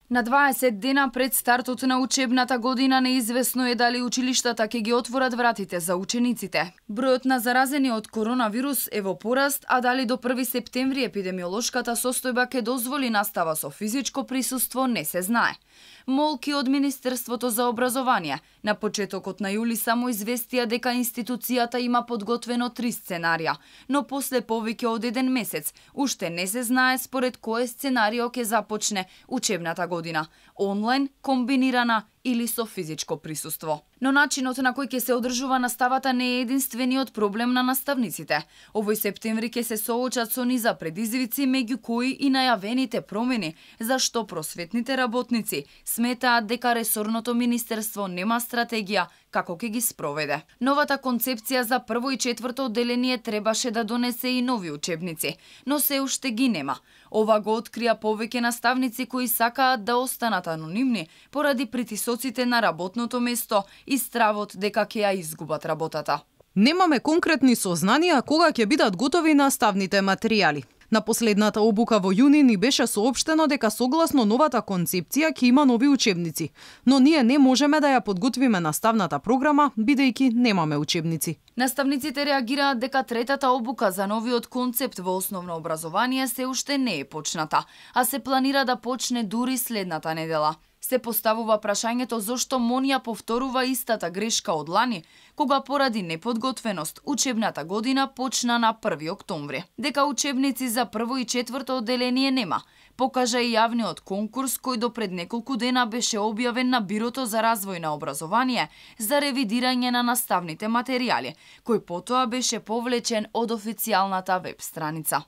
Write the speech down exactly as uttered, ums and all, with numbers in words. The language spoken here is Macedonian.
На дваесет дена пред стартот на учебната година неизвестно е дали училиштата ќе ги отворат вратите за учениците. Бројот на заразени од коронавирус е во пораст, а дали до први септември епидемиолошката состојба ќе дозволи настава со физичко присуство не се знае. Молки од Министерството за образование на почетокот на јули само известија дека институцијата има подготвено три сценарија, но после повеќе од еден месец уште не се знае според кое сценарио ќе започне учебната година – онлайн, комбинирана или со физичко присуство. Но начинот на кој ќе се одржува наставата не е единствениот проблем на наставниците. Овој септември ќе се соочат со низа предизвици, меѓу кои и најавените промени, зашто просветните работници сметаат дека ресорното министерство нема стратегија како ќе ги спроведе. Новата концепција за прво и четврто одделение требаше да донесе и нови учебници, но се уште ги нема. Ова го открија повеќе наставници кои сакаат да останат анонимни поради притисоците на работното место и стравот дека ќе ја изгубат работата. Немаме конкретни сознанија кога ќе бидат готови наставните материјали. На последната обука во јуни ни беше соопштено дека согласно новата концепција ќе има нови учебници, но ние не можеме да ја подготвиме наставната програма бидејќи немаме учебници. Наставниците реагираат дека третата обука за новиот концепт во основно образование се уште не е почната, а се планира да почне дури следната недела. Се поставува прашањето зошто МОН ја повторува истата грешка од лани, кога поради неподготвеност учебната година почна на први октомври. Дека учебници за прво и четврто одделение нема, покажа и јавниот конкурс кој до пред неколку дена беше објавен на Бирото за развој на образование за ревидирање на наставните материјали, кој потоа беше повлечен од официјалната веб страница.